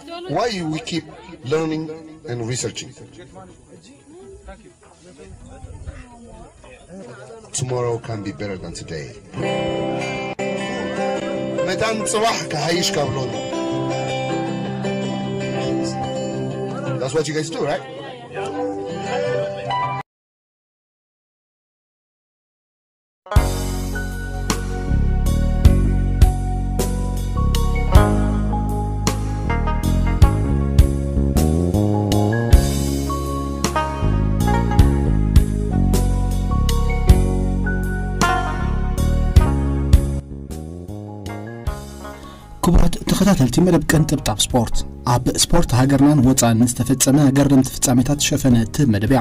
Why we keep learning and researching? Tomorrow can be better than today. መታን ጽባሕ ክሓይሽ ካብ ሎሚ። That's what you guys do, right? ክቡራት ተኸታተልቲ መደብ ቅንጥብጣብ ስፖርት፣ ኣብ ስፖርት ሃገርናን ወፃእን ዝተፈፀመ ገርምቲ ፍፃሜታት ዝሸፈነት መደብ እያ።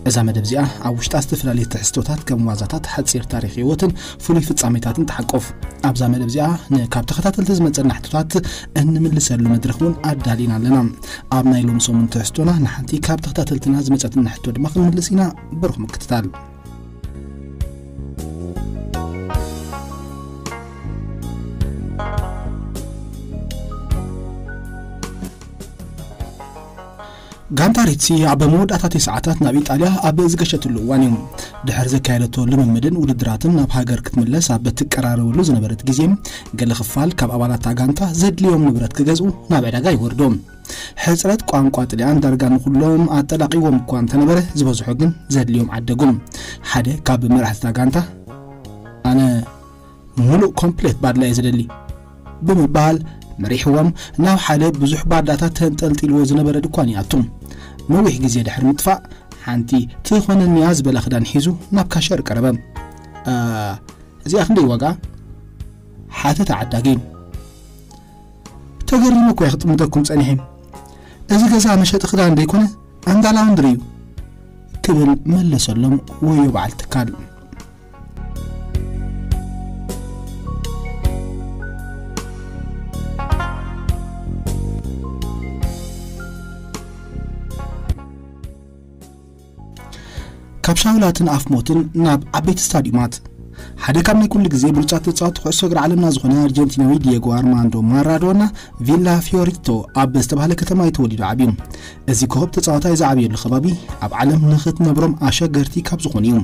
እዛ መደብ እዚኣ ኣብ ውሽጣ ዝተፈላለዩ ትሕዝቶታት ከም ዋዛታት፣ ሓፂር ታሪክ ህይወትን ፍሉይ ፍፃሜታትን ትሓቁፍ። ኣብዛ መደብ እዚኣ ን-፣ ካብ ተኸታተልቲ ዝመፀና ሕቶታት እንምልሰሉ መድረኽ እውን ኣዳሊና ኣለና። ኣብ ናይ ሎም ሰሙን ትሕዝቶና ንሓንቲ ካብ ተኸታተልትና ዝመፀትና ሕቶ ድማ ክንምልስ ኢና። ብሩኽ ምክትታል። ጋንታ ሪትሲ ኣብ መወዳእታ ሰዓታት ናብ ኢጣልያ ኣብ ዝገሸትሉ እዋን እዩ። ድሕሪ ዘካየደቶ ልምምድን ውድድራትን ናብ ሃገር ክትምለስ ኣብ እትቀራረበሉ ዝነበረት ግዜ፣ ገለ ክፋል ካብ ኣባላት እታ ጋንታ ዘድልዮም ንብረት ክገዝኡ ናብ ዕዳጋ ይወርዱ። ሕጽረት ቋንቋ ጥልያን ዳርጋ ንኹሎም ኣጠላቒዎም እኳ እንተነበረ፣ ዝበዝሑ ግን ዘድልዮም ዓደጉ። ሓደ ካብ መራሕቲ እታ ጋንታ፣ ኣነ ምሉእ ኮምፕሌት ባድላ እየ ዝደሊ ብምባል መሪሕዎም ናብ ሓደ ብዙሕ ባድላታት ተንጠልጢልዎ ዝነበረ ድኳን ይኣቱ። ነዊሕ ግዜ ድሕሪ ምጥፋእ ሓንቲ ትኾነኒ እያ ዝበላ ክዳን ሒዙ ናብ ካሸር ቀረበ። "እ፣ እዚኣ ክንደይ ዋጋ?" ሓተተ ዓዳጊ። "ተገሪመ እኮ እየ ክጥምተኩም ጸኒሐ። እዚ ገዛ መሸጢ ክዳን ዘይኮነ እንዳ ላውንድሪ እዩ" ክብል መለሰሎም ወዮ በዓል ትካል። ካብ ሻውላትን ኣፍ ሞትን ናብ ዓበይቲ ስታዲዩማት። ሓደ ካብ ናይ ኩሉ ግዜ ብሉጻት ተጻወቲ ኩዕሶ እግሪ ዓለምና ዝኾነ ኣርጀንቲናዊ ዲየጎ ኣርማንዶ ማራዶና ቪላ ፊዮሪቶ ኣብ ዝተባህለ ከተማ እዩ ተወሊዱ ዓብዩ። እዚ ኮኸብ ተጻዋታይ ዝዓበየሉ ከባቢ ኣብ ዓለም ንኽትነብሮም ኣሸገርቲ ካብ ዝኾኑ እዩ።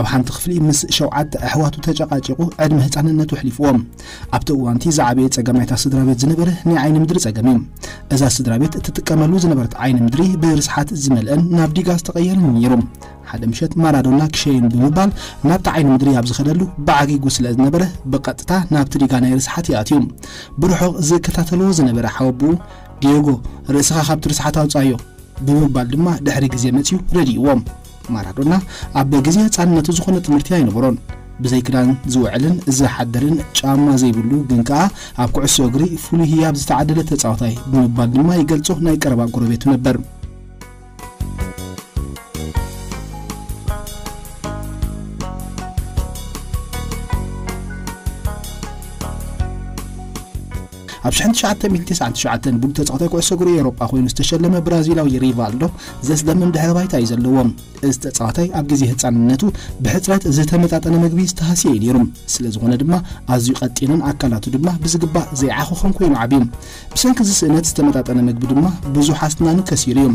ኣብ ሓንቲ ክፍሊ ምስ ሸውዓተ ኣሕዋቱ ተጨቃጪቑ ዕድመ ህጻንነቱ ኣሕሊፍዎ። ኣብቲ እዋንቲ ዝዓበየ ጸገም ናይታ ስድራ ቤት ዝነበረ ናይ ዓይኒ ምድሪ ጸገም እዩ። እዛ ስድራ ቤት እትጥቀመሉ ዝነበረት ዓይኒ ምድሪ ብርስሓት ዝመልአን ናብ ዲጋ ዝተቐየረን ነይሩ። ሓደ ምሸት ማራዶና ክሸይን ብምባል ናብቲ ዓይኒ ምድሪ ኣብ ዝኸደሉ ብዓጊጉ ስለ ዝነበረ ብቐጥታ ናብቲ ዲጋ ናይ ርስሓት ይኣትዩ። ብርሑቕ ዝከታተልዎ ዝነበረ ሓወብኡ ዲየጎ ርእስኻ ካብቲ ርስሓት ኣውጻዮ ብምባል ድማ ድሕሪ ግዜ መጺኡ ረዲእዎ። ማራዶና ኣብ ግዜ ህጻንነቱ ዝኾነ ትምህርቲ ኣይነበሮን። ብዘይ ክዳን ዝውዕልን ዝሓድርን ጫማ ዘይብሉ ግን ከኣ ኣብ ኩዕሶ እግሪ ፍሉይ ህያብ ዝተዓደለ ተጻዋታይ ብምባል ድማ ይገልጾ ናይ ቀረባ ጎረቤቱ ነበር። ኣብ ሽሕን ትሽዓተ ሚእትን ተስዓን ትሽዓተን ብሉጽ ተጻዋታይ ኩዕሶ እግሪ ኤውሮጳ ኮይኑ ዝተሸለመ ብራዚላዊ ሪቫልዶ ዘስደምም ድሕረ ባይታ እዩ ዘለዎ። እዚ ተጻዋታይ ኣብ ግዜ ህጻንነቱ ብሕጽረት ዝተመጣጠነ መግቢ ዝተሃስየ እዩ ነይሩ። ስለ ዝኾነ ድማ ኣዝዩ ቀጢንን ኣካላቱ ድማ ብዝግባእ ዘይዓኾኾን ኮይኑ ዓብዩ። ብሰንኪ እዚ ስእነት ዝተመጣጠነ መግቢ ድማ ብዙሕ ኣስናኑ ከሲሩ እዩ።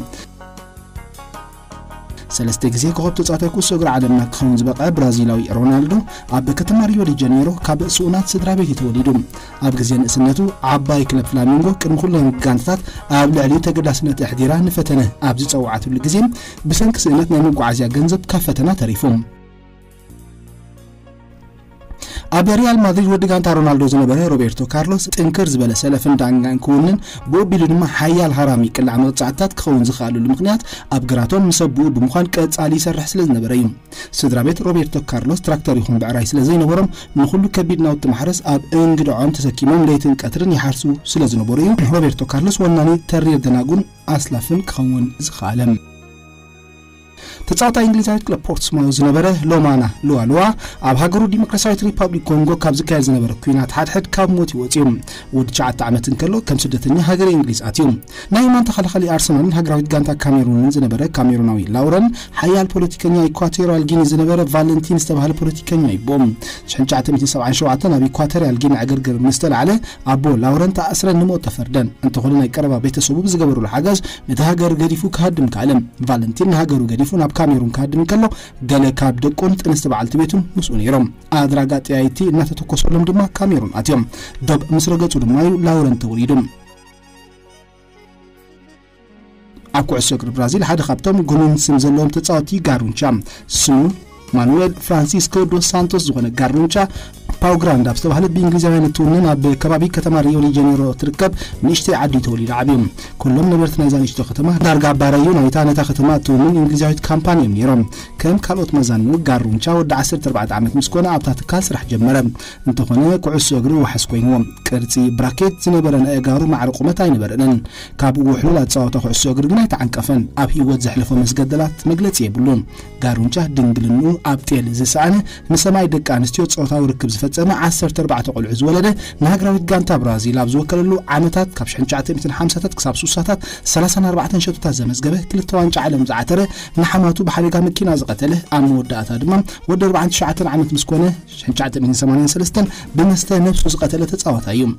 ሰለስተ ግዜ ኮኸብ ተጻዋታይ ኩዕሶ እግሪ ዓለምና ክኸውን ዝበቕዐ ብራዚላዊ ሮናልዶ ኣብ ከተማ ሪዮ ዲ ጀኔሮ ካብ ስኡናት ስድራ ቤት እዩ ተወሊዱ። ኣብ ግዜ ንእስነቱ ዓባይ ክለብ ፍላሚንጎ ቅድሚ ኩለን ጋንታታት ኣብ ልዕሊኡ ተገዳስነት ኣሕዲራ ንፈተነ ኣብ ዝጸውዓትሉ ግዜ ብሰንኪ ስእነት ናይ መጓዓዝያ ገንዘብ ካብ ፈተና ተሪፉ። ኣብ ሪያል ማድሪድ ወዲ ጋንታ ሮናልዶ ዝነበረ ሮቤርቶ ካርሎስ ጥንክር ዝበለ ሰለፍን ዳንጋን ክውንን ብኡ ኣቢሉ ድማ ሓያል ሃራሚ ቅላዕ መቕጻዕትታት ክኸውን ዝኸኣለሉ ምኽንያት ኣብ ግራቶም ምስ ኣቦኡ ብምዃን ቀጻሊ ይሰርሕ ስለ ዝነበረ እዩ። ስድራ ቤት ሮቤርቶ ካርሎስ ትራክተር ይኹን ብዕራይ ስለ ዘይነበሮም ንኹሉ ከቢድ ናውቲ ማሕረስ ኣብ እንግድዖም ተሰኪሞም ለይትን ቀትርን ይሓርሱ ስለ ዝነበሩ እዩ ሮቤርቶ ካርሎስ ወናኒ ተሪር ደናጉን ኣስላፍን ክኸውን ዝኸኣለ። ተጻዋታይ እንግሊዛዊት ክለብ ፖርትስማውዝ ዝነበረ ሎማና ሉዋሉዋ ኣብ ሃገሩ ዲሞክራሲያዊት ሪፓብሊክ ኮንጎ ካብ ዝካየድ ዝነበረ ኲናት ሓድሕድ ካብ ሞት ይወጽእ እዩ። ወዲ ትሽዓተ ዓመት እንከሎ ከም ስደተኛ ሃገረ እንግሊዝ ኣትዩ። ናይ የማን ተኸላኻሊ ኣርሰናልን ሃገራዊት ጋንታ ካሜሩንን ዝነበረ ካሜሩናዊ ላውረን ሓያል ፖለቲከኛ ኢኳቶሪያል ጊኒ ዝነበረ ቫለንቲን ዝተባህለ ፖለቲከኛ ይቦም። ሽሕን ትሽዓተ ሚእትን ሰብዓን ሸውዓተን ኣብ ኢኳቶሪያል ጊኒ ዕግርግር ምስ ተላዕለ ኣቦ ላውረን ተኣስረን ንሞት ተፈርደን። እንተኾነ ናይ ቀረባ ቤተሰቡ ብዝገበሩሉ ሓገዝ ነቲ ሃገር ገዲፉ ክሃድም ከኣለ። ቫለንቲን ንሃገሩ ገዲፉ ናብ ካሜሩን ክሃድም ከሎ ገለ ካብ ደቁን ጥንስቲ በዓልቲ ቤቱን ምስኡ ነይሮም። ኣድራጋ ጠያይቲ እናተተኮሰሎም ድማ ካሜሩን ኣትዮም። ዶብ ምስ ረገጹ ድማ እዩ ላውረን ተወሊዱ። ኣብ ኩዕሶ እግሪ ብራዚል ሓደ ካብቶም ግኑን ስም ዘለዎም ተጻወቲ ጋሩንቻ ስሙ ማኑኤል ፍራንሲስኮ ዶስ ሳንቶስ ዝኾነ ጋሩንቻ ፓውግራንድ ኣብ ዝተባህለት ብእንግሊዛውያን እትውነን ኣብ ከባቢ ከተማ ሪዮ ዲ ጀኔሮ እትርከብ ንእሽተይ ዓዲ ተወሊዱ ዓብዩ። ኩሎም ነበርቲ ናይዛ ንእሽቶ ከተማ ዳርጋ ኣባረዩ ናይታ ነታ ከተማ እትውንን እንግሊዛዊት ካምፓኒ እዮም ነይሮም። ከም ካልኦት መዛኑ ጋሩንቻ ወዲ ዓሰርተ ኣርባዕተ ዓመት ምስ ኮነ ኣብታ ትካል ስራሕ ጀመረ። እንተኾነ ኩዕሶ እግሪ ዋሕስ ኮይንዎ። ቅርጺ ብራኬት ዝነበረን ኣእጋሩ ማዕረ ቁመት ኣይነበረንን። ካብ ውሕሉል ኣጻወታ ኩዕሶ እግሪ ግን ኣይተዓንቀፈን። ኣብ ህይወት ዘሕለፎ መስገደላት መግለጺ የብሉን። ጋሩንቻ ድንግልንኡ ኣብ ጤል ዝሰኣነ፣ ንሰማይ ደቂ ኣንስትዮ ጾታዊ ርክብ ዝፈጸመ፣ ዓሰርተ ኣርባዕተ ቆልዑ ዝወለደ፣ ንሃገራዊት ጋንታ ብራዚል ኣብ ዝወከለሉ ዓመታት ካብ ሽሕን ትሽዓተ ሚእትን ሓምሳታት ክሳብ ሱሳታት ሰላሳን ኣርባዕተን ሸቶታት ዘመዝገበ፣ ክልተ ዋንጫ ዓለም ዝዓተረ፣ ንሓማቱ ብሓደጋ መኪና ዝቐተለ፣ ኣብ መወዳእታ ድማ ወዲ ኣርባዓን ትሽዓተን ዓመት ምስ ኮነ፣ ሽሕን ትሽዓተ ሚእትን ሰማንያን ሰለስተን ብመስተ ነብሱ ዝቐተለ ተጻዋታይ እዩ።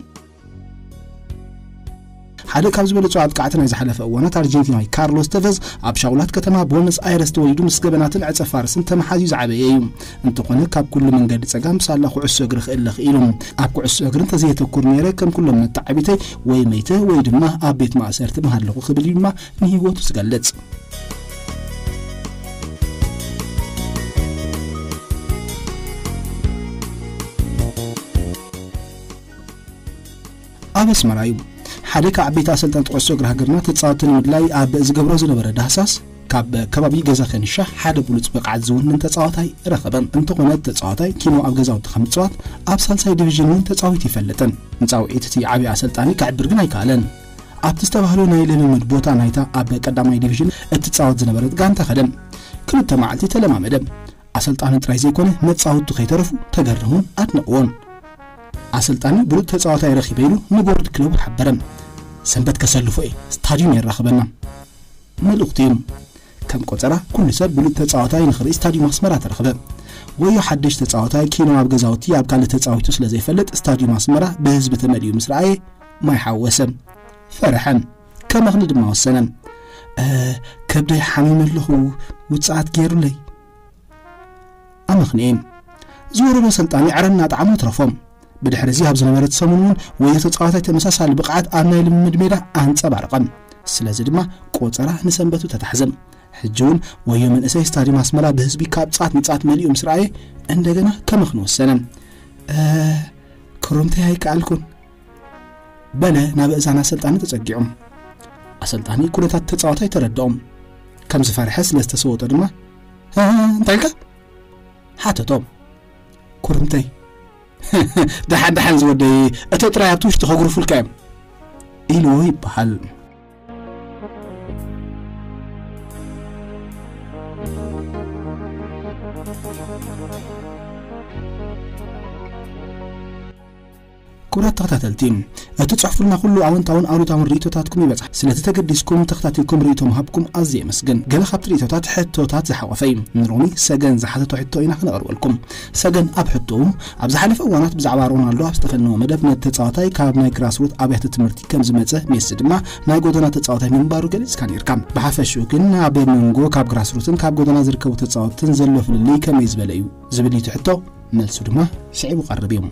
ሓደ ካብ ዝበለጹ ኣጥቃዕቲ ናይ ዝሓለፈ እዋናት ኣርጀንቲናዊ ካርሎስ ተቨዝ ኣብ ሻውላት ከተማ ቦነስ ኣይረስ ተወሊዱ ምስ ገበናትን ዕጸ ፋርስን ተመሓዝዩ ዝዓበየ እዩ። እንተኾነ ካብ ኩሉ መንገዲ ጸጋም ሳላ ኩዕሶ እግሪ ክእለ ክኢሉ። ኣብ ኩዕሶ እግሪ እንተዘየተኩር ነይረ ከም ኩሎም መተዓቢተይ ወይ መይተ ወይ ድማ ኣብ ቤት ማእሰርቲ ምሃለኹ ክብል እዩ ድማ ንህይወቱ ዝገልጽ። ኣብ ኣስመራ እዩ። ሓደ ካብ ዓበይቲ ኣሰልጠንቲ ኩዕሶ እግሪ ሃገርና ተጻወትቲ ንምድላይ ኣብ ዝገብሮ ዝነበረ ዳህሳስ ካብ ከባቢ ገዛ ከንሻ ሓደ ብሉጽ ብቕዓት ዝውንን ተጻዋታይ ረኸበ። እንተኾነ ተጻዋታይ ኪኖ ኣብ ገዛውቲ ከም ዝጽዋት ኣብ ሳልሳይ ዲቪዥን እውን ተጻዊቱ ይፈልጥን። ንጻውዒት እቲ ዓቢ ኣሰልጣኒ ክዕብር ግን ኣይከኣለን። ኣብቲ ዝተባህሎ ናይ ልምምድ ቦታ ናይታ ኣብ ቀዳማይ ዲቪዥን እትጻወት ዝነበረት ጋንታ ከደ። ክልተ መዓልቲ ተለማመደ። ኣሰልጣኒ ጥራይ ዘይኮነ መጻወቱ ከይተረፉ ተገረሙን ኣድነቕዎን። ኣሰልጣኒ ብሉጽ ተጻዋታይ ረኺበ ኢሉ ንቦርድ ክለቡ ሓበረ። ሰንበት ከሰልፎ እየ፣ ስታድዩም የራኽበና። መልእኽቱ እዩ። ከም ቆጸራ ኩሉ ሰብ ብሉጽ ተጻዋታይ ንኽርኢ ስታድዩም ኣስመራ ተረኽበ። ወዮ ሓድሽ ተጻዋታይ ኪኖ ኣብ ገዛውቲ ኣብ ካልእ ተጻዊቱ ስለ ዘይፈልጥ ስታድዩም ኣስመራ ብህዝቢ ተመሊኡ ምስ ረኣየ ማይ ሓወሰ። ፈርሐ። ከመኽኒ ድማ ወሰነ። "እ፣ ከብደይ ሓሚመ ኣለኹ፣ ውጽኣት ገይሩለይ።" ኣመኽንኤ። ዝወረዶ ሰልጣኒ ዕረ እናጠዓሞ ትረፎም። ብድሕሪ እዚ ኣብ ዝነበረት ሰሙን እውን ወዮ ተጻዋታይ ተመሳሳሊ ብቕዓት ኣብ ናይ ልምምድ ሜዳ ኣንጸባረቐ። ስለዚ ድማ ቆጸራ ንሰንበቱ ተታሕዘ። ሕጂ እውን ወዮ መንእሰይ ስታድዩም ኣስመራ ብህዝቢ ካብ ጻት ንጻት መሊኡ ምስ ረኣየ እንደገና ከመኽኒ ወሰነ። "እ፣ ክሩምተይ ኣይከኣልኩን" በለ ናብ እዛን ኣሰልጣኒ ተጸጊዑ። ኣሰልጣኒ ኩነታት ተጻዋታይ ተረድኦም። ከም ዝፈርሐ ስለ ዝተሰወጦ ድማ፣ "እ፣ እንታይ ኢልካ?" ሓተቶም። "ኩርምተይ፣ ደሓን ደሓን ዝወደይ፣ እቶ ጥራይ ኣብቲ ውሽጢ ከጉርፉልካ እዮም" ኢልዎ ይበሃል። ክቡራት ተኸታተልቲ፣ እቲ ጽሑፍና ኩሉ ኣወንታውን ኣሉታውን ርእይቶታትኩም ይበጽሕ። ስለቲ ተገዲስኩም ተኸታቲልኩም ርእይቶ ምሃብኩም ኣዝየ የመስግን። ገለ ካብቲ ርእይቶታት ሕቶታት ዝሓቖፈ እዩ። ንሎሚ ሰገን ዝሓተቶ ሕቶ ኢና ክነቕርበልኩም። ሰገን ኣብ ሕቶኡ፣ ኣብ ዝሓለፈ እዋናት ብዛዕባ ሮናልዶ ኣብ ዝተፈነወ መደብ ነቲ ተጻዋታይ ካብ ናይ ግራስሩት ኣብያተ ትምህርቲ ከም ዝመጸ፣ ሜሲ ድማ ናይ ጎደና ተጻዋታይ ምንባሩ ገሊጽካ ነይርካ። ብሓፈሽኡ ግን ኣብ መንጎ ካብ ግራስሩትን ካብ ጎደና ዝርከቡ ተጻወትትን ዘሎ ፍልልይ ከመይ ዝበለ እዩ ዝብል እዩ እቲ ሕቶ። መልሱ ድማ ስዒቡ ቀርብ እዩ።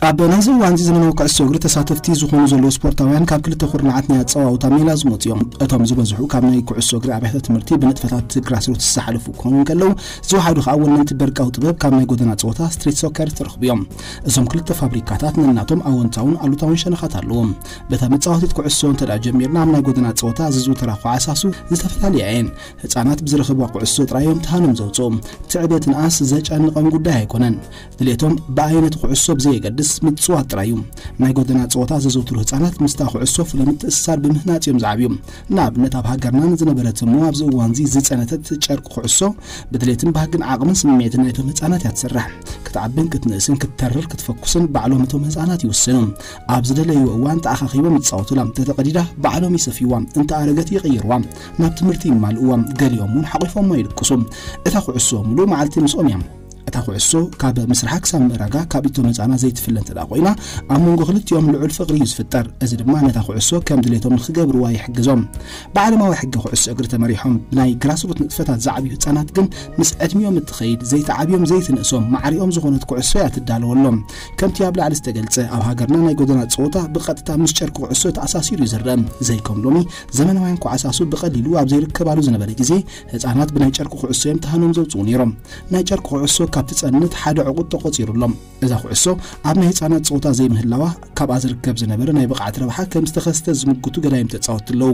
ኣብ ናይዚ እዋንዚ ዘመናዊ ኩዕሶ እግሪ ተሳተፍቲ ዝኾኑ ዘለዉ ስፖርታውያን ካብ ክልተ ኩርናዓት ናይ ኣጸዋውታ ሜላ ዝመጹ እዮም። እቶም ዝበዝሑ ካብ ናይ ኩዕሶ እግሪ ኣብያተ ትምህርቲ ብንጥፈታት ግራስሩትስ ዝሓለፉ ክኾኑ እንከለዉ፣ ዝወሓዱ ከኣ ወነንቲ በርቃዊ ጥበብ ካብ ናይ ጎደና ጸወታ ስትሪት ሶከር ዝተረኽቡ እዮም። እዞም ክልተ ፋብሪካታት ነናቶም ኣወንታውን ኣሉታውን ሸነኻት ኣለዎም። በታ መጻወቲት ኩዕሶ እንተ ደኣ ጀሚርና፣ ኣብ ናይ ጎደና ጸወታ ዝዝውተራ ኳዕሳሱ ዝተፈላለያ እየን። ህጻናት ብዝረኸብዋ ኩዕሶ ጥራይ እዮም ተሃኖም ዘውጽኡ። ትዕበት ንኣስ ዘጨንቖም ጉዳይ ኣይኮነን። ድሌቶም ብዓይነት ኩዕሶ ብዘየገድስ ምጽዋት ጥራይ እዩ። ናይ ጎደና ጸወታ ዘዘውትሩ ህጻናት ምስታ ኩዕሶ ፍሉይ ምትእስሳር ብምህናጽ እዮም ዝዓብዩ። ንኣብነት ኣብ ሃገርና ንዝነበረት እሞ ኣብዚ እዋንዚ ዝጸነተት ጨርቂ ኩዕሶ ብድሌትን ባህግን ዓቕምን ስምዒትን ናይቶም ህጻናት እያ ትስራሕ። ክትዓብን ክትንእስን ክትተርር ክትፈኩስን ባዕሎም እቶም ህጻናት ይውስኑ። ኣብ ዝደለይዎ እዋን ተኣኻኺቦም ይጻወቱላ። ተተቐዲዳ ባዕሎም ይሰፍይዋ። እንተኣረገት ይቕይርዋ። ናብ ትምህርቲ ይማልእዋ። ገሊኦም እውን ሓቒፎሞ ይድቅሱ። እታ ኩዕሶ ሙሉእ መዓልቲ ምስኦም እያ። እታ ኩዕሶ ካብ ምስርሓ ክሳብ ምእራጋ ካብ ኢቶም ህጻናት ዘይትፍለ እንተ ደኣ ኮይና፣ ኣብ መንጎ ክልቲኦም ልዑል ፍቕሪ እዩ ዝፍጠር። እዚ ድማ ነታ ኩዕሶ ከም ድሌቶም ንኽገብርዋ ይሕግዞም። ብዓለማዊ ሕጊ ኩዕሶ እግሪ ተመሪሖም ብናይ ግራስሩት ንጥፈታት ዝዓብዩ ህጻናት ግን ምስ ዕድሚኦም እትኸይድ ዘይትዓብዮም ዘይትንእሶም ማዕሪኦም ዝኾነት ኩዕሶ እያ ትዳለወሎም። ከምቲ ኣብ ላዕሊ ዝተገልጸ ኣብ ሃገርና ናይ ጎደና ጸወታ ብቐጥታ ምስ ጨርቂ ኩዕሶ ተኣሳሲሩ እዩ ዝረአ። ዘይከም ሎሚ ዘመናውያን ኩዓሳሱ ብቐሊሉ ኣብ ዘይርከባሉ ዝነበረ ግዜ ህጻናት ብናይ ጨርቂ ኩዕሶ እዮም ተሃኖም ዘውጽኡ ነይሮም። ናይ ጨርቂ ኩዕሶ ካብ ትጸንት ሓደ ዕቑድ ተቖጺሩሎም። እዛ ኩዕሶ ኣብ ናይ ህጻናት ጸወታ ዘይምህላዋ ካብኣ ዝርከብ ዝነበረ ናይ ብቕዓት ረብሓ ከም ዝተኸስተ ዝምጉቱ ገዳይም ተጻወትቲ ኣለዉ።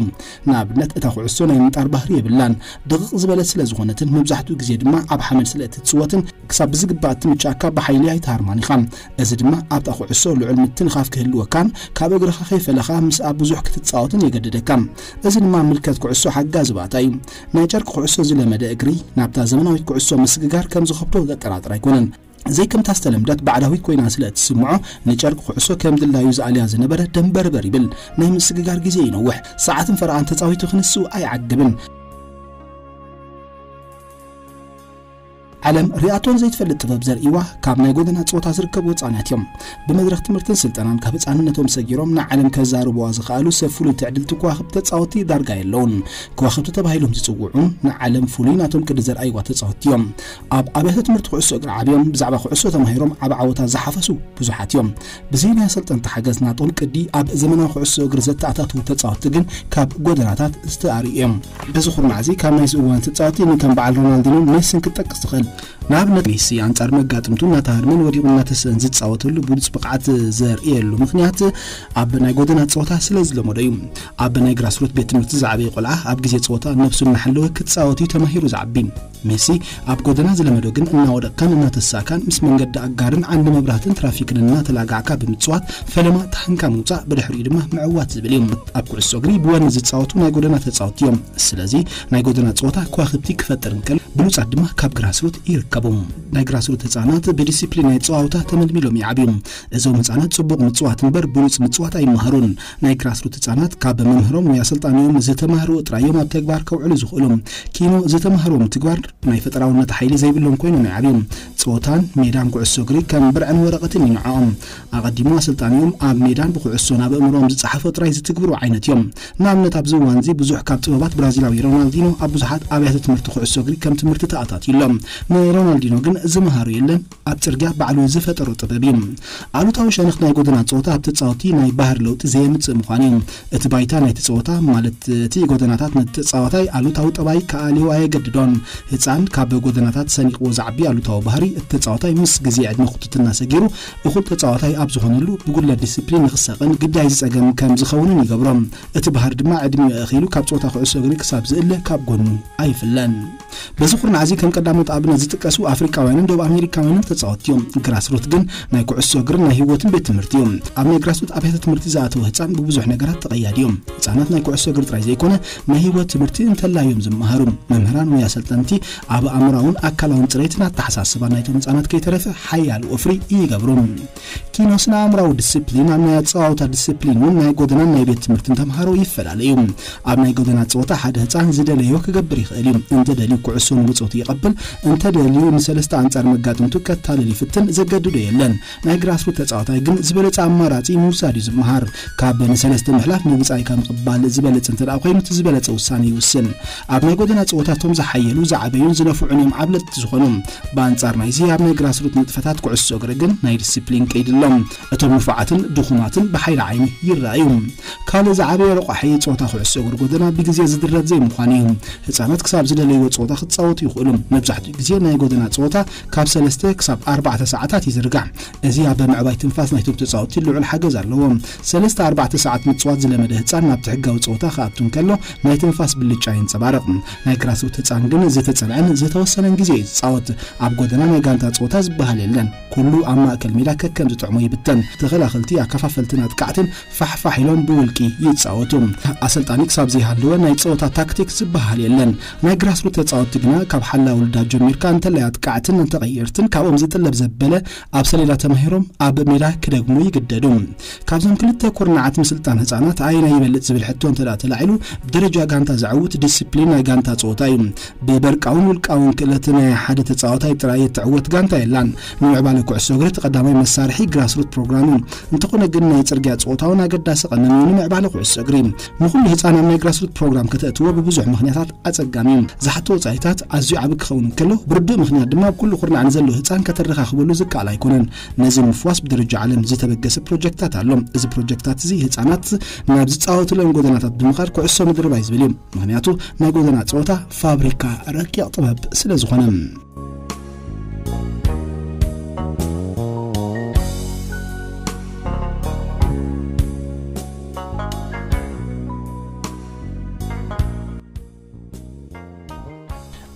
ንኣብነት እታ ኩዕሶ ናይ ምንጣር ባህሪ የብላን። ድቕቕ ዝበለት ስለ ዝኾነትን መብዛሕትኡ ግዜ ድማ ኣብ ሓመድ ስለ እትጽወትን ክሳብ ብዝግባእ እትምቻእካ ብሓይሊ ኣይትሃርማን ኢኻ። እዚ ድማ ኣብታ ኩዕሶ ልዑል ምትንኻፍ ክህልወካን ካብ እግርኻ ከይፈለኻ ምስኣ ብዙሕ ክትጻወትን የገድደካ። እዚ ድማ ምልከት ኩዕሶ ሓጋዚ ባእታ እዩ። ናይ ጨርቂ ኩዕሶ ዝለመደ እግሪ ናብታ ዘመናዊት ኩዕሶ ምስግጋር ከም ዝኸብዶ ዘጠራጥር ኣይኮነን። ዘይከምታ ዝተለምደት ባዕዳዊት ኮይና ስለ እትስምዖ ንጨርቂ ኩዕሶ ከም ድላዩ ዝኣልያ ዝነበረ ደንበርበር ይብል። ናይ ምስግጋር ግዜ ይነውሕ። ሰዓትን ፈረቓን ተጻዊቱ ክንስኡ ኣይዓግብን። ዓለም ሪኣቶን ዘይትፈልጥ ጥበብ ዘርእዋ ካብ ናይ ጎደና ጸወታ ዝርከቡ ህጻናት እዮም። ብመድረኽ ትምህርትን ስልጠናን ካብ ህጻንነቶም ሰጊሮም ንዓለም ከዛርብዋ ዝኸኣሉ ሰብ ፍሉይ ትዕድልቲ ከዋኽብቲ ተጻወቲ ዳርጋ የለውን። ከዋኽብቲ ተባሂሎም ዝጽውዑ ንዓለም ፍሉይ ናቶም ቅዲ ዘርኣይዋ ተጻወቲ እዮም። ኣብ ኣብያተ ትምህርቲ ኩዕሶ እግሪ ዓብዮም ብዛዕባ ኩዕሶ ተማሂሮም ዓብ ዓወታ ዝሓፈሱ ብዙሓት እዮም። ብዘይ ናይ ኣሰልጠንቲ ሓገዝ ናቶም ቅዲ ኣብ ዘመናዊ ኩዕሶ እግሪ ዘተኣታትዉ ተጻወቲ ግን ካብ ጎደናታት ዝተኣርዩ እዮም። በዚ ኩርናዕ እዚ ካብ ናይዚ እዋን ተጻወቲ ንከም በዓል ሮናልዲኖን ሜስን ክትጠቅስ ትኽእል። ንኣብነት ሜሲ ኣንጻር መጋጥምቱ እናተሃርመን ወዲቑ እናተሰእን ዝጻወተሉ ብሉጽ ብቕዓት ዘርእየሉ ምኽንያት ኣብ ናይ ጎደና ጸወታ ስለ ዝለመዶ እዩ። ኣብ ናይ ግራስሩት ቤት ትምህርቲ ዝዓበየ ቆልዓ ኣብ ግዜ ጸወታ ነብሱ እናሓለወ ክጻወት እዩ ተማሂሩ ዝዓቢ። ሜሲ ኣብ ጎደና ዝለመዶ ግን እናወደቕካን እናተሳእካን ምስ መንገዲ ኣጋርን ዓንዲ መብራህትን ትራፊክን እናተላጋዕካ ብምጽዋት ፈለማ ታህንካ ምውጻእ ብድሕሪኡ ድማ ምዕዋት ዝብል እዩ። ኣብ ኩዕሶ እግሪ ብወኒ ዝጻወቱ ናይ ጎደና ተጻወትቲ እዮም። ስለዚ ናይ ጎደና ጸወታ ከዋኽብቲ ክፈጥር እንከሎ ብሉጻት ድማ ካብ ግራስሩት ይርከቡ። ናይ ግራስሩት ህጻናት ብዲሲፕሊን ናይ ጸዋውታ ተመልሚሎም ይዓብዩ። እዞም ህጻናት ጽቡቕ ምጽዋት እምበር ብሉጽ ምጽዋት ኣይመሃሩን። ናይ ግራስሩት ህጻናት ካብ መምህሮም ወይ ኣሰልጣኒኦም ዝተማህርዎ ጥራይ እዮም ኣብ ተግባር ከውዕሉ ዝኽእሉ። ኪኖ ዝተማህርዎ ምትግባር ናይ ፈጠራውነት ሓይሊ ዘይብሎም ኮይኖም ይዓብዩ። ጸወታን ሜዳን ኩዕሶ እግሪ ከም ብርዕን ወረቐትን እዩ ንዕኦም። ኣቐዲሙ ኣሰልጣኒኦም ኣብ ሜዳን ብኩዕሶን ኣብ ኣእምሮኦም ዝጸሓፎ ጥራይ ዝትግብሩ ዓይነት እዮም። ንኣብነት ኣብዚ እዋን እዚ ብዙሕ ካብ ጥበባት ብራዚላዊ ሮናልዲኖ ኣብ ብዙሓት ኣብያተ ትምህርቲ ኩዕሶ እግሪ ከም ትምህርቲ ተኣታትዩ ኣሎ። ንሮናልዲኖ ግን ዝመሃሮ የለን። ኣብ ጽርግያ ባዕሉ ዝፈጠሮ ጥበብ እዩ። ኣሉታዊ ሸነኽ ናይ ጎደና ጸወታ ኣብ ተጻወቲ ናይ ባህር ለውጢ ዘየምጽእ ምዃኑ እዩ። እቲ ባይታ ናይቲ ጸወታ ማለት እቲ ጎደናታት ነቲ ተጻዋታይ ኣሉታዊ ጠባይ ከኣልዮ ኣየገድዶን። ህጻን ካብ ጎደናታት ሰኒቕዎ ዝዓቢ ኣሉታዊ ባህሪ እቲ ተጻዋታይ ምስ ግዜ ዕድመ ክቱትና ሰጊሩ እኹል ተጻዋታይ ኣብ ዝኾነሉ ብጉድለት ዲስፕሊን ንኽሳቐን ግዳይ ዝጸገም ከም ዝኸውንን ይገብሮ። እቲ ባህር ድማ ዕድሚኡ ኣእኺሉ ካብ ጸወታ ኩዕሶ እግሪ ክሳብ ዝእለ ካብ ጎኑ ኣይፍለን። በዚ ኩርናዕ እዚ ከም ቀዳሞት ኣብነት ዝጥቀሱ ኣፍሪቃውያንን ደቡብ ኣሜሪካውያንን ተጻወትቲ እዮም። ግራስሩት ግን ናይ ኩዕሶ እግርን ናይ ህይወትን ቤት ትምህርቲ እዩ። ኣብ ናይ ግራስሩት ኣብያተ ትምህርቲ ዝኣተወ ህጻን ብብዙሕ ነገራት ተቐያዲ እዩ። ህጻናት ናይ ኩዕሶ እግሪ ጥራይ ዘይኮነ ናይ ህይወት ትምህርቲ እንተላይ እዮም ዝመሃሩ። መምህራን ወይ ኣሰልጠንቲ ኣብ ኣእምራውን ኣካላውን ጽሬትን ኣተሓሳስባ ናይቶም ህጻናት ከይተረፈ ሓያል ወፍሪ ይገብሩ። ኪኖ ስነ ኣእምራዊ ዲስፕሊን ኣብ ናይ ኣጸዋውታ ዲስፕሊን እውን ናይ ጎደናን ናይ ቤት ትምህርትን ተምሃሮ ይፈላለ እዩ። ኣብ ናይ ጎደና ጸወታ ሓደ ህጻን ዝደለዮ ክገብር ይኽእል እዩ። እንተደልዩ ኩዕሶ ንብጾቱ ይቐብል፣ እንተደልዩ ንሰለስተ ኣንጻር መጋጥምቱ ከታልል ይፍትን፣ ዘገድዶ የለን። ናይ ግራስሩት ተጻዋታይ ግን ዝበለጸ ኣማራጺ ምውሳድ እዩ ዝመሃር። ካብ ንሰለስተ ምሕላፍ ንብጻይ ካብ ምቕባል ዝበለጸ እንተ ደኣ ኮይኑ እቲ ዝበለጸ ውሳነ ይውስን። ኣብ ናይ ጎደና ጸወታ እቶም ዝሓየሉ፣ ዝዓበዩን ዝነፍዑን እዮም ዓብለልቲ ዝኾኑ። ብኣንጻር ናይዚ ኣብ ናይ ግራስሩት ንጥፈታት ኩዕሶ እግሪ ግን ናይ ዲስፕሊን ቀይዲ ኣሎ። እቶም ንፉዓትን ድኹማትን ብሓይሊ ዓይኒ ይረኣዩ። ካልእ ዝዓበየ ረቋሒ ጸወታ ኩዕሶ እግሪ ጎደና ብግዜ ዝድረት ዘይምዃኑ እዩ። ህጻናት ክሳብ ዝደለይዎ ጸወታ ክጻወቱ ይኽእሉ። መብዛሕትኡ ግዜ ናይ ጎደና ጸወታ ካብ ሰለስተ ክሳብ ኣርባዕተ ሰዓታት ይዝርጋሕ። እዚ ኣብ ምዕባይ ትንፋስ ናይቶም ተጻወትቲ ልዑል ሓገዝ ኣለዎ። ሰለስተ ኣርባዕተ ሰዓት ምጽዋት ዝለመደ ህጻን ናብቲ ሕጋዊ ጸወታ ክኣቱ እንከሎ ናይ ትንፋስ ብልጫ የንጸባርቕ። ናይ ግራስሩት ህጻን ግን ዝተጸንዐን ዝተወሰነን ግዜ እዩ ዝጻወት። ኣብ ጎደና ናይ ጋንታ ጸወታ ዝበሃል የለን። ኩሉ ኣብ ማእከል ሜዳ ከከም ዝጥዕሞ ይብተን። ተኸላኸልቲ፣ ኣከፋፈልትን ኣጥቃዕትን ፋሕፋሕ ኢሎም ብውልቂ ይጻወቱ። ኣሰልጣኒ ክሳብ ዘይሃለወ ናይ ጸወታ ታክቲክ ዝበሃል የለን። ናይ ግራስሩት ተጻወትቲ ግና ካብ ሓላ ውልዳት ጀሚርካ እንተላይ ኣጥቃዕትን እንተቐየርትን ካብኦም ዝጥለብ ዘበለ ኣብ ሰሌዳ ተማሂሮም ኣብ ሜዳ ክደግሙ ይግደዱ። ካብዞም ክልተ ኩርናዓት ምስልጣን ህጻናት ኣየናይ ይበልጽ ዝብል ሕቶ እንተ ደኣ ተላዒሉ፣ ብደረጃ ጋንታ ዘዕውት ዲስፕሊን ናይ ጋንታ ጸወታ እዩ። ብበርቃውን ውልቃውን ክእለት ናይ ሓደ ተጻዋታይ ጥራይ እትዕወት ጋንታ የላን። ንምዕባለ ኩዕሶ እግሪ እቲ ቀዳማይ መሳርሒ ግራስሩት ፕሮግራም እዩ። እንተኾነ ግን ናይ ጽርግያ ጸወታ እውን ኣገዳሲ ቀመም እዩ ንምዕባለ ኩዕሶ እግሪ። ንኹሉ ህጻን ኣብ ናይ ግራስሩት ፕሮግራም ከተእትዎ ብብዙሕ ምኽንያታት ኣጸጋሚ እዩ። ዝሓቶ ወጻኢታት ኣዝዩ ዓቢ ክኸውን እንከሎ፣ ብርዱእ ምኽንያት ድማ ኣብ ኩሉ ኩርናዕ ንዘሎ ህጻን ከተረኻኽበሉ ዝከኣል ኣይኮነን። ነዚ ንምፍዋስ ብደረጃ ዓለም ዝተበገሰ ፕሮጀክታት ኣሎ። እዚ ፕሮጀክታት እዚ ህጻናት ናብ ዝጻወቱለን ጎደናታት ብምኻድ ኩዕሶ ምድርባይ ዝብል እዩ። ምኽንያቱ ናይ ጎደና ጸወታ ፋብሪካ ረቂቕ ጥበብ ስለ ዝኾነ።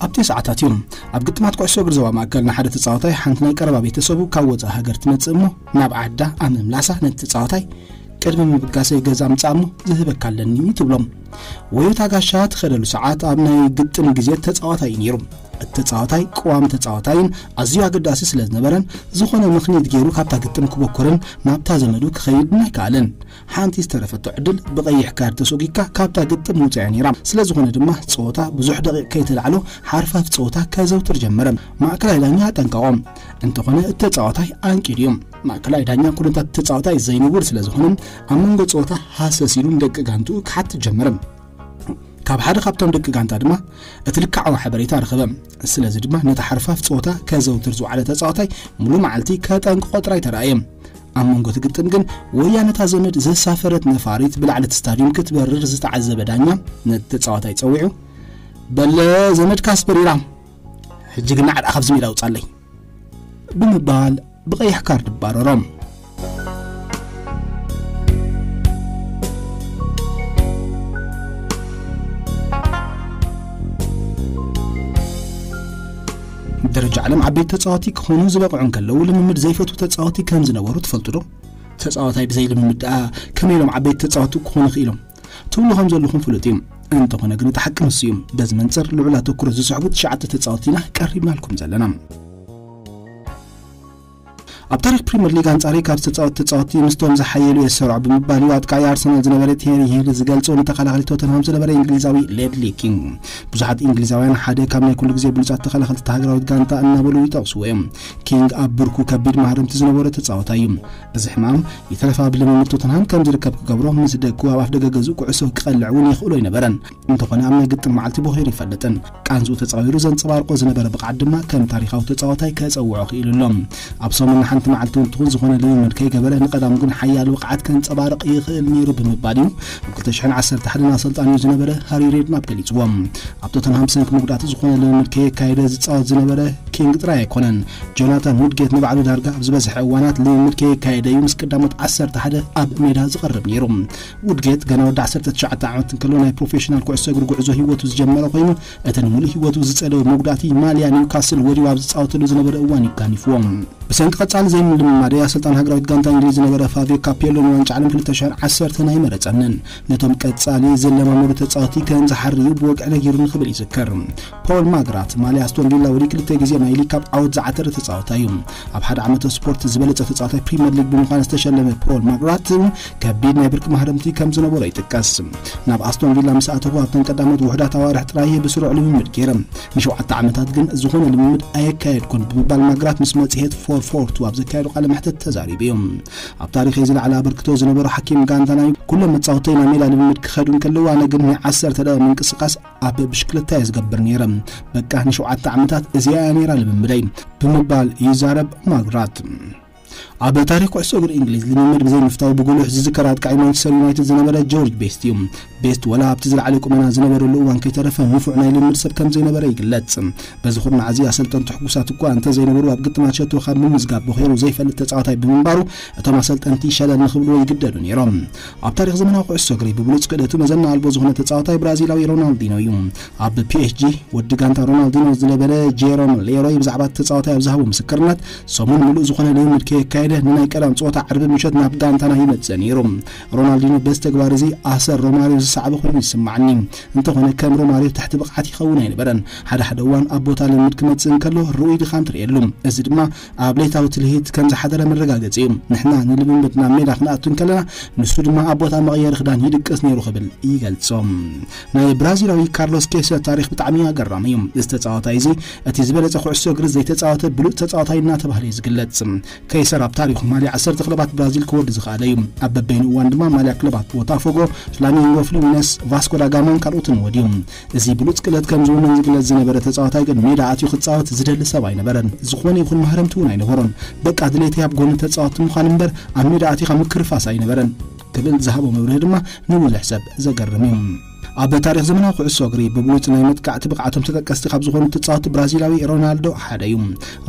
ኣብቲ ሰዓታት እዮም ኣብ ግጥማት ኩዕሶ እግሪ ዞባ ማእከል ንሓደ ተጻዋታይ ሓንቲ ናይ ቀረባ ቤተሰቡ ካብ ወጻኢ ሃገር ትመጽእ እሞ ናብ ዓዳ ኣብ ምምላሳ ነቲ ተጻዋታይ ቅድሚ ምብጋሰይ ገዛ ምጻእ እሞ ዝህበካ ኣለኒ ትብሎም። ወዮ ታጋሻ ትኸደሉ ሰዓት ኣብ ናይ ግጥም ግዜ ተጻዋታይ እዩ ነይሩ። እቲ ተጻዋታይ ቅዋም ተጻዋታይን ኣዝዩ ኣገዳሲ ስለ ዝነበረን ዝኾነ ምኽኒት ገይሩ ካብታ ግጥም ክበኩርን ናብታ ዘመዱ ክኸይድን ኣይከኣለን። ሓንቲ ዝተረፈቶ ዕድል ብቐይሕ ካርድ ተሰጒግካ ካብታ ግጥም ምውጻእ እያ ነይራ። ስለ ዝኾነ ድማ ጸወታ ብዙሕ ደቂቕ ከይተላዕሎ ሓርፋፍ ጸወታ ከዘውትር ጀመረ። ማእከላይ ዳኛ ኣጠንቀቖ። እንተኾነ እቲ ተጻዋታይ ኣንቂድዩ። ማእከላይ ዳኛ ኩነታት ተጻዋታይ ዘይንቡር ስለ ዝኾነን ኣብ መንጎ ጸወታ ሃሰስ ኢሉ ንደቂ ጋንትኡ ክሓትት ጀመረ። ካብ ሓደ ካብቶም ደቂ ጋንታ ድማ እቲ ልክዓዊ ሓበሬታ ረኸበ። ስለዚ ድማ ነቲ ሓርፋፍ ጸወታ ከዘውትር ዝወዓለ ተጻዋታይ ሙሉ መዓልቲ ከጠንቅቖ ጥራይ ተራእየ። ኣብ መንጎ እቲ ግጥም ግን ወያ ነታ ዘመድ ዘሳፈረት ነፋሪት ብላዕሊ እቲ ስታድዩም ክትበርር ዝተዓዘበ ዳኛ ነቲ ተጻዋታይ ጸዊዑ፣ "በለ ዘመድካስ በሪራ፣ ሕጂ ግን ንዓኣ ካብዚ ሜዳ ውጻለይ" ብምባል ብቐይሕ ካርድ ባረሮም። ደረጃ ዓለም ዓበይቲ ተጻወቲ ክኾኑ ዝበቕዑ እንከለዉ ልምምድ ዘይፈትዉ ተጻወቲ ከም ዝነበሩ ትፈልጡ ዶ? ተጻዋታይ ብዘይ ልምምድ ደኣ ከመይ ኢሎም ዓበይቲ ተጻወቲ ክኾኑ ክኢሎም? ትብሉ ከም ዘለኹም ፍሉጥ እዩ። እንተኾነ ግን እቲ ሓቂ ንሱ እዩ። በዚ መንጽር ልዑል ኣተኩሮ ዝስሕቡ ትሽዓተ ተጻወቲ ኢና ቀሪብናልኩም ዘለና። ኣብ ታሪኽ ፕሪምየር ሊግ ኣንጻረይ ካብ ዝተጻወቱ ተጻወቲ ምስቶም ዝሓየሉ እየ ዝሰርዖ ብምባል እዩ ኣጥቃዒ ኣርሰናል ዝነበረ ቴሪ ሄንሪ ዝገልጾ ንተኸላኻሊ ቶተንሃም ዝነበረ እንግሊዛዊ ሌድሊ ኪንግ። ብዙሓት እንግሊዛውያን ሓደ ካብ ናይ ኩሉ ግዜ ብሉጻት ተኸላኸልቲ ሃገራዊት ጋንታ እናበሉ ይጠቕስዎ እዮም። ኪንግ ኣብ ብርኩ ከቢድ ማህረምቲ ዝነበረ ተጻዋታይ እዩ። እዚ ሕማም ይትረፍ ኣብ ልምምድ ቶተንሃም ከም ዝርከብ ክገብሮ ምስ ደቁ ኣብ ኣፍ ደገ ገዝኡ ኩዕሶ ክቐልዕ እውን የኽእሎ ኣይነበረን። እንተኾነ ኣብ ናይ ግጥም መዓልቲ ቦኺሩ ይፈልጥን ቃንዝኡ ተጻዊሩ ዘንጸባርቆ ዝነበረ ብቕዓት ድማ ከም ታሪኻዊ ተጻዋታይ ከጸውዖ ክኢሉ ኣሎ። ኣብ ሰሙን ንሓንቲ መዓልቲ እውን ትኹን ዝኾነ ልምምድ ከይገበረ ንቐዳሙ ግን ሓያል ብቕዓት ከንጸባርቕ ይኽእል ነይሩ ብምባል እዩ ኣብ ክልተ ሽሕን ዓሰርተ ሓደን ኣሰልጣኒኡ ዝነበረ ሃሪ ሬድናፕ ገሊጽዎ። ኣብ ቶተንሃም ብሰንኪ መጉዳእቲ ዝኾነ ልምምድ ከየካየደ ዝጻወት ዝነበረ ኪንግ ጥራይ ኣይኮነን። ጆናታን ውድጌት ንባዕሉ ዳርጋ ኣብ ዝበዝሐ እዋናት ልምምድ ከየካየደ እዩ ምስ ቀዳሞት ዓሰርተ ሓደ ኣብ ሜዳ ዝቐርብ ነይሩ። ውድጌት ገና ወዲ ዓሰርተ ትሽዓተ ዓመት እንከሎ ናይ ፕሮፌሽናል ኩዕሶ እግሪ ጉዕዞ ህይወቱ ዝጀመረ ኮይኑ፣ እቲ ንምሉእ ህይወቱ ዝጸለወ መጉዳእቲ ማልያ ኒውካስል ወዲቡ ኣብ ዝጻወተሉ ዝነበረ እዋን እዩ ጋኒፍዎ። ብሰንኪ ቀጻሊ ዘይምልምማደይ ኣሰልጣን ሃገራዊት ጋንታ እንግሊዝ ዝነበረ ፋብዮ ካፔሎ ንዋንጫ ዓለም ክልተ ሽሕን ዓሰርተን ኣይመረጸንን። ነቶም ቀጻሊ ዝለማመዱ ተጻወቲ ከም ዝሓርዩ ብወግዒ ነጊሩኒ ክብል ይዝከር። ፖል ማግራት ማልያ ኣስቶን ቪላ ወዲ ክልተ ግዜ ናይ ሊግ ካፕ ዓወት ዝዓተረ ተጻወታይ እዩ። ኣብ ሓደ ዓመተ ስፖርት ዝበለጸ ተጻዋታይ ፕሪምየር ሊግ ብምዃን ዝተሸለመ ፖል ማግራት ከቢድ ናይ ብርኪ ማህረምቲ ከም ዝነበሮ ይጥቀስ። ናብ ኣስቶን ቪላ ምስ ኣተኹ ኣብተን ቀዳሞት ውሑዳት ኣዋርሕ ጥራይ ብስሩዕ ልምምድ ገይረ። ንሸውዓተ ዓመታት ግን ዝኾነ ልምምድ ኣየካየድኩን ብምባል ማግራት ምስ መጽሔት ፎር ፎር ቱ ኣብ ዘካየዶ ቃለ መሕተት ተዛሪቡ እዩ። ኣብ ታሪኸይ ዝለዓለ ኣበርክቶ ዝነበሮ ሓኪም ጋንታ ናይ ኩሎም መጻወተይ ናብ ሜዳ ልምምድ ክኸዱ እንከለዉ ኣነ ግን ናይ ዓሰርተ ደቂቕ ምንቅስቃስ ኣብ ብሽክለታ እየ ዝገብር ነይረ። በቃ ንሸውዓተ ዓመታት እዚኣ እያ ነይራ ልምምደይ ብምባል ይዛረብ ማግራት። ኣብ ታሪኽ ኩዕሶ እግሪ እንግሊዝ ልምምድ ብዘይ ምፍታው ብጉሉሕ ዝዝከር ኣጥቃዒ ማንቸስተር ዩናይትድ ዝነበረ ጆርጅ ቤስት እዩ። ቤስት ወላ ኣብቲ ዝለዓለ ቁመና ዝነበረሉ እዋን ከይተረፈ ንፉዕ ናይ ልምምድ ሰብ ከም ዘይነበረ ይግለጽ። በዚ ኩርናዕ እዚ ኣሰልጠንቱ ሕጉሳት እኳ እንተ ዘይነበሩ ኣብ ግጥማት ሸቶ ካብ ምምዝጋብ ብኸይሩ ዘይፈልጥ ተጻዋታይ ብምንባሩ እቶም ኣሰልጠንቲ ሸለል ንኽብልዎ ይግደዱ ነይሮም። ኣብ ታሪኽ ዘመናዊ ኩዕሶ እግሪ ብብሉጽ ክእለቱ መዘና ኣልቦ ዝኾነ ተጻዋታይ ብራዚላዊ ሮናልዲኖ እዩ። ኣብ ፒ ኤስ ጂ ወዲ ጋንታ ሮናልዲኖ ዝነበረ ጄሮም ሌሮይ ብዛዕባ እቲ ተጻዋታይ ኣብ ዝሃቦ ምስክርነት ሰሙን ምሉእ ዝኾነ ልምምድ ከየካየደ ንናይ ቀዳም ጸወታ ዓርቢ ምሸት ናብ ጋንታና ይመጽእ ነይሩ። ሮናልዲኖ በዚ ተግባር እዚ ኣሰር ሮማሪዮ ዝሰዓበ ኮይኑ ይስማዓኒ። እንተኾነ ከም ሮማሪዮ ትሕቲ ብቕዓት ይኸውን ኣይነበረን። ሓደ ሓደ እዋን ኣብ ቦታ ልምምድ ክመጽእ እንከሎ ርኡይ ድኻም ትርእየሉ። እዚ ድማ ኣብ ለይታዊ ትልሂት ከም ዝሓደረ መረጋገጺ እዩ። ንሕና ንልምምድ ናብ ሜዳ ክንኣቱ እንከለና ንሱ ድማ ኣብ ቦታ መቐየሪ ክዳን ይድቅስ ነይሩ ክብል ይገልጾ። ናይ ብራዚላዊ ካርሎስ ኬሰር ታሪኽ ብጣዕሚ ኣገራሚ እዩ። እዚ ተጻዋታይ እዚ እቲ ዝበለጸ ኩዕሶ እግሪ ዘይተጻወተ ብሉጽ ተጻዋታይ እናተባህለ እዩ ዝግለጽ። ኬሰር ኣብ ታሪኹ ማልያ ዓሰርተ ክለባት ብራዚል ክወዲ ዝኸኣለ እዩ። ኣብ በበይኑ እዋን ድማ ማልያ ክለባት ቦታፎጎ፣ ፍላሚንጎ፣ ፍሉሚነስ፣ ቫስኮ ዳጋማን ካልኦትን ወድዩ። እዚ ብሉጽ ክእለት ከም ዝውንን ዝግለጽ ዝነበረ ተጻዋታይ ግን ሜዳ ኣትዩ ክጻወት ዝደሊ ሰብ ኣይነበረን። ዝኾነ ይኹን ማህረምቲ እውን ኣይነበሮን። በቃ ድሌተይ ኣብ ጎኒ ተጻወቲ ምዃን እምበር ኣብ ሜዳ ኣቲኻ ምክርፋስ ኣይነበረን ክብል ዝሃቦ መብርሂ ድማ ንብዙሕ ሰብ ዘገርም እዩ። ኣብ ታሪኽ ዘመናዊ ኩዕሶ እግሪ ብብሉጽ ናይ መጥቃዕቲ ብቕዓቶም ተጠቀስቲ ካብ ዝኾኑ ተጻወቲ ብራዚላዊ ሮናልዶ ሓደ እዩ።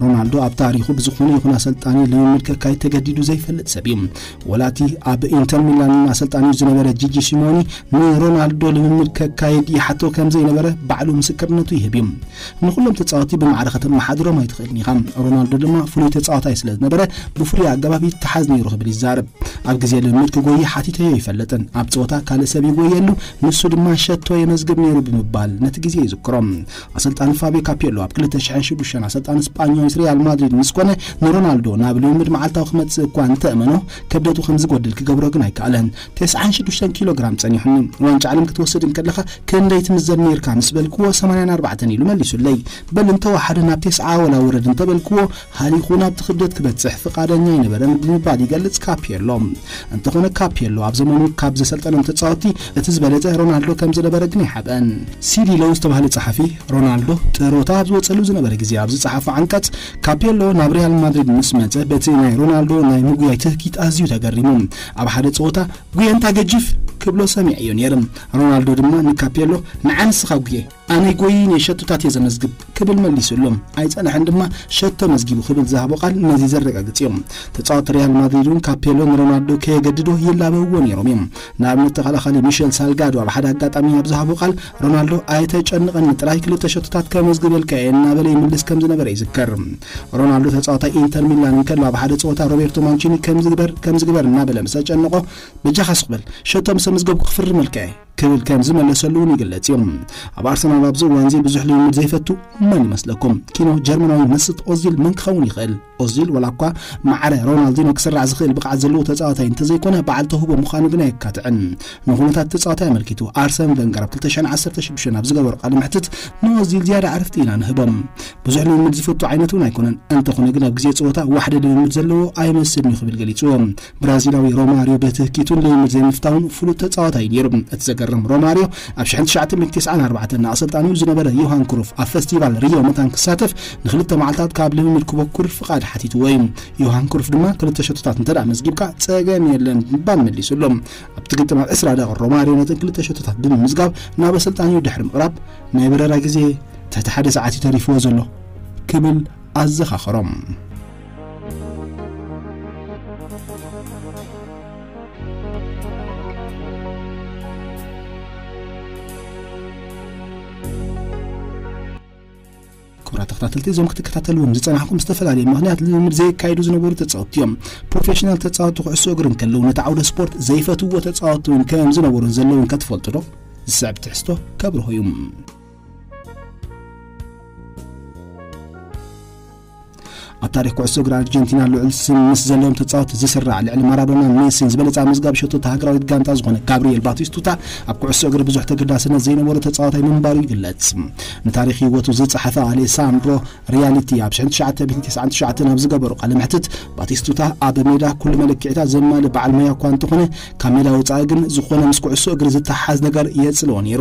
ሮናልዶ ኣብ ታሪኹ ብዝኾነ ይኹን ኣሰልጣኒ ልምምድ ከካይድ ተገዲዱ ዘይፈልጥ ሰብ እዩ። ወላቲ ኣብ ኢንተር ሚላን ኣሰልጣኒ ዝነበረ ጂጂ ሲሞኒ ንሮናልዶ ልምምድ ከካይድ ይሓቶ ከም ዘይነበረ ባዕሉ ምስክርነቱ ይህብ እዩ። ንኹሎም ተጻወቲ ብማዕረ ከተመሓድሮም ኣይትኽእልን ኢኻ። ሮናልዶ ድማ ፍሉይ ተጻዋታይ ስለ ዝነበረ ብፍሉይ ኣገባብ ይተሓዝ ነይሩ ክብል ይዛረብ። ኣብ ግዜ ልምምድ ክጎይ ሓቲተዮ ይፈልጥን ኣብ ጸወታ ካልእ ሰብ ይጎየሉ፣ ንሱ ድማ ሸቶ የመዝግብ ነይሩ ብምባል ነቲ ግዜ ይዝክሮ። ኣሰልጣኒ ፋብዮ ካፔሎ ኣብ ክልተ ሽሕን ሽዱሽተን ኣሰልጣኒ ስጳኛዊት ሪያል ማድሪድ ምስ ኮነ ንሮናልዶ ናብ ልምምድ መዓልታዊ ክመጽእ እኳ እንተእመኖ ክብደቱ ከም ዝጎድል ክገብሮ ግን ኣይከኣለን። ተስዓን ሽዱሽተን ኪሎ ግራም ጸኒሑኒ። ዋንጫ ዓለም ክትወስድ እንከለኻ ክንደይ ትምዘን ነይርካ ምስ በልክዎ ሰማንያን ኣርባዕተን ኢሉ መሊሱለይ። በል እንተወሓደ ናብ ተስዓ ወላ ውረድ እንተበልክዎ ሃሊኹ ናብቲ ክብደት ክበጽሕ ፍቓደኛ ኣይነበረን ብምባል ይገልጽ ካፒየሎ። እንተኾነ ካፒየሎ ኣብ ዘመኑ ካብ ዘሰልጠኖም ተጻወቲ እቲ ዝበለጸ ሮናልዶ ከም ዝነበረ ግን ኣይሓብአን። ሲዲ ሎው ዝተባህለ ጸሓፊ ሮናልዶ ጥሮታ ኣብ ዝወጸሉ ዝነበረ ግዜ ኣብ ዝጸሓፎ ዓንቀጽ ካፒየሎ ናብ ሪያል ማድሪድ ምስ መጸ በቲ ናይ ሮናልዶ ናይ ምጉያይ ትህኪት ኣዝዩ ተገሪሙ። ኣብ ሓደ ጸወታ ጉየ እንታ ገጅፍ ክብሎ ሰሚዐዮ ነይረ። ሮናልዶ ድማ ንካፔሎ ንዓ ንስኻ ጉየ ኣነ ጎይን እየ ሸቶታት እየ ዘመዝግብ ክብል መሊሱሉ። ኣይጸንሐን ድማ ሸቶ መዝጊቡ ክብል ዝሃቦ ቃል ነዚ ዘረጋግጽ እዩ። ተጻወቲ ሪያል ማድሪድ እውን ካፔሎ ንሮናልዶ ከየገድዶ ይላበውዎ ነይሮም እዮም። ንኣብነት ተኸላኻሊ ሚሸል ሳልጋዶ ኣብ ሓደ ኣጋጣሚ ኣብ ዝሃቦ ቃል ሮናልዶ ኣይተጨንቐኒ ጥራይ ክልተ ሸቶታት ከመዝግበልካ እየ እናበለ ይምልስ ከም ዝነበረ ይዝከር። ሮናልዶ ተጻዋታይ ኢንተር ሚላን እንከሎ ኣብ ሓደ ጸወታ ሮቤርቶ ማንቺኒ ከም ዝግበር ከም ዝግበር እናበለ ምስ ኣጨነቆ በጃኻ ስቕ በል ሸቶ ምስ ኣመዝገብኩ ክፍርመልካ እየ ክብል ከም ዝመለሰሉ እውን ይግለጽ እዩ። ኣብ ኣርሰናል ኣብዚ እዋን እዚ ብዙሕ ልምምድ ዘይፈቱ መን ይመስለኩም? ኪኖ ጀርመናዊ መስጥ ኦዚል መን ክኸውን ይኽእል? ኦዚል ወላ እኳ ማዕረ ሮናልዲኖ ክስራዕ ዝኽእል ብቕዓት ዘለዎ ተጻዋታይ እንተዘይኮነ በዓል ተውህቦ ምዃኑ ግን ኣየካትዕን። ንኹነታት ተጻዋታይ ኣመልኪቱ ኣርሰን ቨንገር ኣብ ክልተ ሽሕን ዓሰርተ ሽዱሽተን ኣብ ዝገበሮ ቃለ መሕትት ንኦዚል ዝያዳ ዕርፍቲ ኢና ንህቦም። ብዙሕ ልምምድ ዝፈቱ ዓይነት እውን ኣይኮነን። እንተኾነ ግን ኣብ ግዜ ጸወታ ዋሕደ ልምምድ ዘለዎ ኣይመስልን እዩ ክብል ገሊጽዎ። ብራዚላዊ ሮማሪዮ በትህኪቱን ልምምድ ዘይምፍታውን ፍሉጥ ተጻዋታይ ነይሩ። እቲ ዘገርም ሮማሪዮ ኣብ ሽሕን ትሽዓተ ሚእትን ተስዓን ኣርባዕተን ንኣሰልጣኒኡ ዝነበረ ዮሃን ክሩፍ ኣብ ፈስቲቫል ሪዮ መታን ክሳተፍ ንክልተ መዓልታት ካብ ልምምድ ክበኩር ፍቓድ ሓቲትዎ እዩ። ዮሃን ክሩፍ ድማ ክልተ ሸቶታት እንተ ደኣ መዝጊብካ ጸገም የለን ብምባል መሊሱሉ። ኣብቲ ግጥም ኣብ ዕስራ ደቂቕ ሮማሪዮ ነተን ክልተ ሸቶታት ብምምዝጋብ ናብ ኣሰልጣኒኡ ድሕሪ ምቕራብ ናይ በረራ ግዜ ትሕቲ ሓደ ሰዓት እዩ ተሪፍዎ ዘሎ ክብል ኣዘኻኸሮም። ክቡራት ተኸታተልቲ፣ እዞም ክትከታተልዎም ዝጸናሕኩም ዝተፈላለየ ምኽንያት ልምምድ ዘየካይዱ ዝነበሩ ተጻወትቲ እዮም። ፕሮፌሽናል ተጻወትቲ ኩዕሶ እግሪ እንከለዉ ነቲ ዓውደ ስፖርት ዘይፈትውዎ ተጻወትቲ እውን ከም ዝነበሩን ዘለውን ከትፈልጡ ዶ? ዝስዕብ ትሕዝቶ ከብርሆ እዩ። ኣብ ታሪኽ ኩዕሶ እግሪ ኣርጀንቲና ልዑል ስም ምስ ዘለዎም ተጻወትቲ ዝስራዕ፣ ልዕሊ ማራዶናን ሜሲን ዝበለጸ ኣመዝጋቢ ሸቶታት ሃገራዊት ጋንታ ዝኾነ ጋብሪኤል ባቲስቱታ ኣብ ኩዕሶ እግሪ ብዙሕ ተገዳስነት ዘይነበሮ ተጻዋታይ ምንባሩ ይግለጽ። ንታሪኽ ህይወቱ ዝጸሓፈ ኣሌሳንድሮ ሪያሊቲ ኣብ ሽሕን ትሽዓተ ሚእትን ተስዓን ትሽዓተን ኣብ ዝገበሮ ቃለ መሕትት፣ ባቲስቱታ ኣብ ሜዳ ኩሉ መለክዒታት ዘማልእ በዓል ሞያ እኳ እንተኾነ፣ ካብ ሜዳ ወጻኢ ግን ዝኾነ ምስ ኩዕሶ እግሪ ዝተሓሓዝ ነገር የጽልኦ ነይሩ።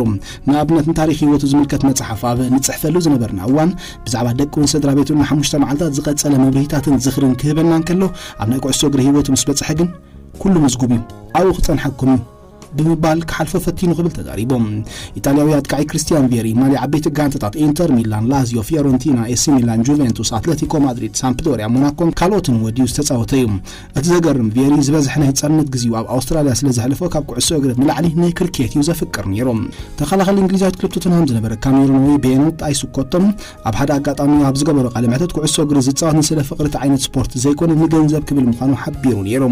ንኣብነት ንታሪኽ ህይወቱ ዝምልከት መጽሓፍ ኣብ ንጽሕፈሉ ዝነበርና እዋን ብዛዕባ ደቁን ስድራ ቤቱን ንሓሙሽተ መዓልታት ዝቐጸ ዝቐጸለ መብርሂታትን ዝኽርን ክህበና እንከሎ፣ ኣብ ናይ ኩዕሶ እግሪ ህይወቱ ምስ በጽሐ ግን፣ "ኩሉ ምዝጉብ እዩ፣ ኣብኡ ክጸንሐኩም እዩ" ብምባል ክሓልፎ ፈቲኑ ክብል ተዛሪቦም። ኢጣልያዊ ኣጥቃዒ ክርስቲያን ቪየሪ፣ ማልያ ዓበይቲ ጋንታታት ኢንተር ሚላን፣ ላዚዮ፣ ፊዮረንቲና፣ ኤሲ ሚላን፣ ጁቬንቱስ፣ ኣትለቲኮ ማድሪድ፣ ሳምፕዶሪያ፣ ሞናኮን ካልኦትን ወዲኡ ዝተጻወተ እዩ። እቲ ዘገርም፣ ቪየሪ ዝበዝሐ ናይ ህጻንነት ግዜኡ ኣብ ኣውስትራልያ ስለ ዘሕለፎ፣ ካብ ኩዕሶ እግሪ ንላዕሊ ንክርኬት እዩ ዘፍቅር ነይሩ። ተኸላኻሊ እንግሊዛዊት ክለብ ቶተንሃም ዝነበረ ካሜሩናዊ ቤኖት ኣይስኮቶም ኣብ ሓደ ኣጋጣሚ ኣብ ዝገበሮ ቃለ መሕተት፣ ኩዕሶ እግሪ ዝጻወት ንስለ ፍቕሪ እቲ ዓይነት ስፖርት ዘይኮነ፣ ንገንዘብ ክብል ምዃኑ ሓቢሩ ነይሩ።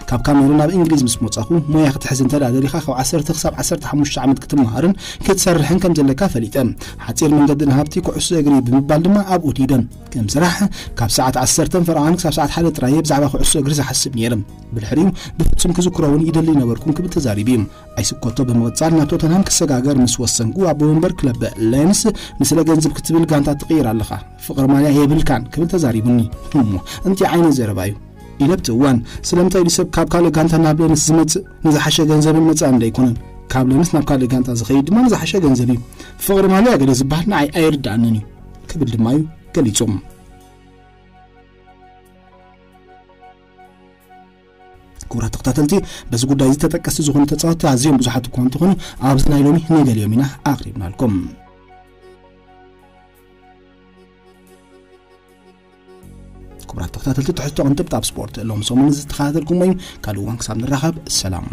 "ካብ ካሜሩን ናብ እንግሊዝ ምስ መጻኹ፣ ሞያ ክትሕዝ እንተ ደኣ ደሊኻ፣ ካብ ዓሰርተ ክሳብ ዓሰርተ ሓሙሽተ ዓመት ክትመሃርን ክትሰርሕን ከም ዘለካ ፈሊጠ። ሓጺር መንገዲ ንሃብቲ ኩዕሶ እግሪ ብምባል ድማ ኣብኡ ዲበ። ከም ስራሕ፣ ካብ ሰዓት ዓሰርተ ፈረቓን ክሳብ ሰዓት ሓደ ጥራይ እየ ብዛዕባ ኩዕሶ እግሪ ዝሓስብ ነይረ። ብድሕሪኡ ብፍጹም ክዝክሮ እውን ይደሊ ነበርኩን" ክብል ተዛሪቡ እዩ። ኣይስኮቶ ብምቕጻል፣ "ናብ ቶተንሃም ክሰጋገር ምስ ወሰንኩ፣ ኣቦ መንበር ክለብ ሌንስ፣ ንስለ ገንዘብ ክትብል ጋንታ ትቕይር ኣለኻ፣ ፍቕሪ ማልያ የብልካን" ክብል ተዛሪቡኒ። እሞ እንታይ ዓይነት ዘረባ እዩ? ኢለ ኣብቲ እዋን፣ ስለምንታይ ድዩ ሰብ ካብ ካልእ ጋንታ ናብ ሌንስ ዝመጽእ? ንዝሓሸ ገንዘብን መጻእን ዶ ኣይኮነን? ካብ ሌንስ ናብ ካልእ ጋንታ ዝኸይድ ድማ ንዝሓሸ ገንዘብ እዩ። ፍቕሪ ማልያ ገለ ዝበሃል ንዓይ ኣይርድኣንን እዩ ክብል ድማ እዩ ገሊጹ። ክቡራት ተኸታተልቲ፣ በዚ ጉዳይ እዚ ተጠቀስቲ ዝኾኑ ተጻወትቲ ኣዝዮም ብዙሓት እኳ እንተኾኑ፣ ኣብዚ ናይ ሎሚ ንገሊኦም ኢና ኣቕሪብናልኩም። ክቡራት ተኸታተልቲ፣ ትሕዝቶ ቅንጥብጣብ ስፖርት ሎም ሰሙን ዝተኸታተልኩሞ እዩ። ካልእ እዋን ክሳብ ንራኸብ፣ ሰላም።